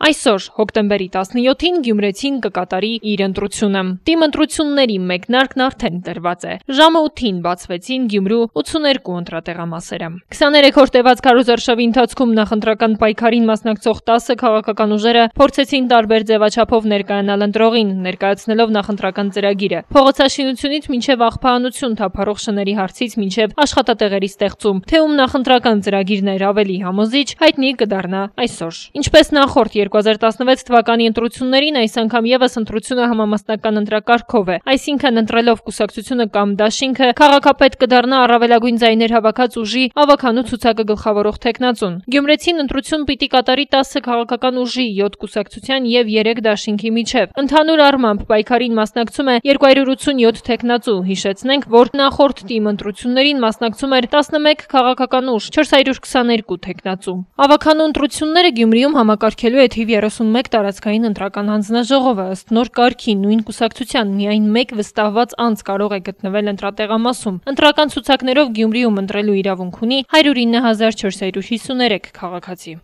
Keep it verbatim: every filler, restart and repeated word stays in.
Այսօր հոկտեմբերի տասնյոթին Գյումրեցին կկատարի իր ընտրությունը։ Թիմ ընտրությունների մեկնարկն արդեն տրված է։ Ժամը ութին բացվեցին Գյումրու ութսուներկու ընտրատեղամասերը։ քսաներեք-րդ տևած քարոզարշավի ընթացքում նախընտրական պայքարին մասնակցող տասը քաղաքական ուժերը փորձեցին տարբեր ձևաչափով ներկայանալ ընտրողին, ներկայացնելով նախընտրական ծրագիրը։ Փողոցաշինությունից մինչև աղբահանություն թափառող շների հարցից մինչև աշխատատեղերի ստեղծում, թե ում նախընտրական ծրագիրն էր ավելի համոզիչ, հայտնի կդառնա այսօր։ Ինչպես նախորդ երկու հազար տասնվեց թվականի ընտրություններին, այս անգամ եւս ընտրությունը համամասնական ընտրակարգով է, այսինքն ընտրելով կուսակցությունը կամ դաշինքը, քաղաքապետ կդառնա առավելագույն ձայներ հավաքած ուժի ավականու ցուցակը գլխավորող թեկնածուն։ Գյումրեցին ընտրություն պիտի կատարի տասը քաղաքական ուժի, յոթ կուսակցության եւ երեք դաշինքի միջև։ Ընդհանուր առմամբ պայքարին մասնակցում է երկու հարյուր ութսունյոթ թեկնածու։ Հիշեցնենք, որ նախորդ թիմ ընտրություններին մասնակցում էր տասնմեկ քաղաքական ուժ, չորս հարյուր քսաներկու թեկնածու։ Ավականու ընտրությունները Գյումրիում համակարգելու է թիվ երեսունմեկ տարածքային ընտրական հանձնաժողովը, ըստ նոր կարգի նույն կուսակցության միայն մեկ վստահված անձ կարող է գտնվել ընտրատեղամասում։ Ընտրական ցուցակներով Գյումրիում ընտրելու իրավունք ունի հարյուր ինը հազար չորս հարյուր հիսուներեք քաղաքացի։